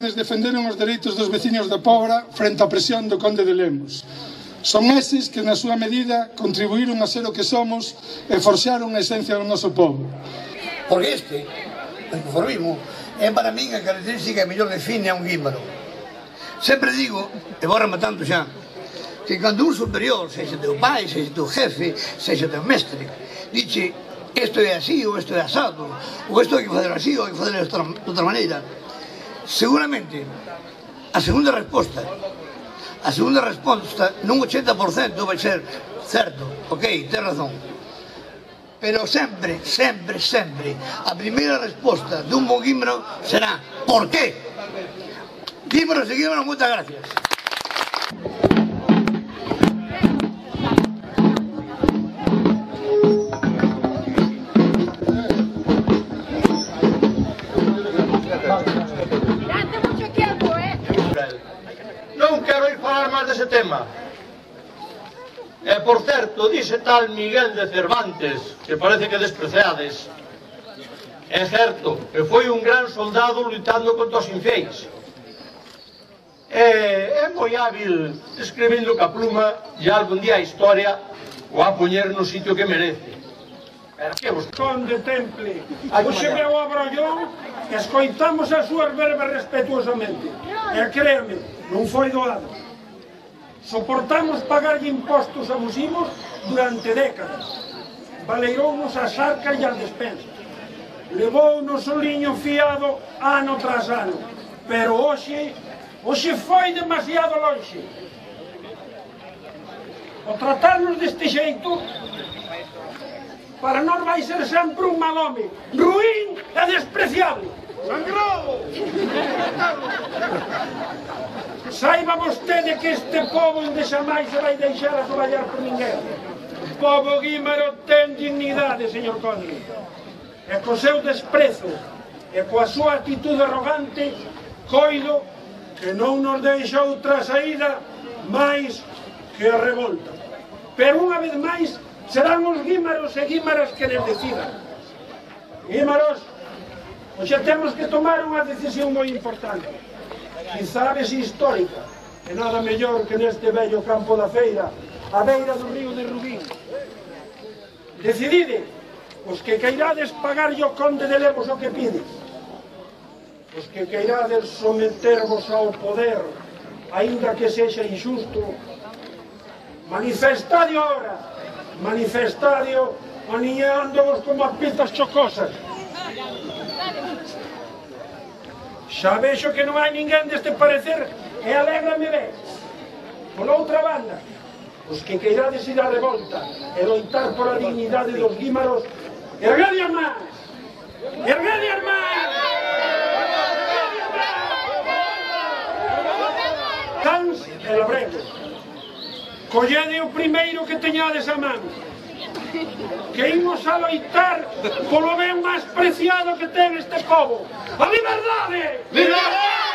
defenderon os dereitos dos veciños da Pobra frente á presión do conde de Lemos. Son eses que, na súa medida, contribuíron a ser o que somos e forxaron a esencia do noso povo. Porque o conformismo, é para min a característica que mellor define a un guímbaro. Sempre digo, e vou rematando xa, que cando un superior, sexa teu pai, sexa teu jefe, sexa teu mestre, dixe, isto é así ou isto é asado, ou isto hai que fazer así ou hai que fazer de outra maneira, seguramente a segunda resposta nun 80% vai ser certo, ok, ten razón, pero sempre a primeira resposta dun bo guímbaro será ¿por qué? Guímbaros e guímbaros, moitas gracias. Non quero ir falar máis dese tema. E, por certo, dice tal Miguel de Cervantes, que parece que despreciades. É certo que foi un gran soldado lutando contra os infiéis. É moi hábil escribindo ca pluma e algún día a historia o a poñer no sitio que merece. Pero que vos... Conde Temple, hoxe veo a Brollón e escoitamos as súas verbas respetuosamente. E créame, non foi doado. Soportamos pagar impostos abusivos durante décadas. Valeirounos as arcas e as despensas. Levounos o liño fiado ano tras ano. Pero hoxe foi demasiado longe. O tratarnos deste xeito, para nós vai ser sempre un mal home, ruín e despreciable. Sangrado! Saiba vostede que este povo onde xa máis se vai deixar a traballar por ninguén. O povo guímaro ten dignidade, señor conde. E co seu desprezo e coa súa actitude arrogante, coido que non nos deixa outra saída máis que a revolta. Pero unha vez máis serán os guímaros e guímaras que les decidan. Guímaros, hoxe temos que tomar unha decisión moi importante, quizás histórica, e nada mellor que neste bello campo da feira, a beira do río de Rubín. Decidide, os que queirades pagarlle ao conde de Lemos o que pides, os que queirades sometervos ao poder, aínda que sexa injusto, manifestadio ahora, manifestadio aniñándoos como as pizzas chocosas. Xa vexo que non hai ninguén deste parecer e alégrame ver. Pola outra banda, os que queirades ir á revolta e loitar por a dignidade dos guímaros, erguede as mans! Erguede as mans! Cans e labregos. Collede o primeiro que teñades a man, que imos a loitar polo ben máis preciado que ten este povo, a liberdade! Liberdade!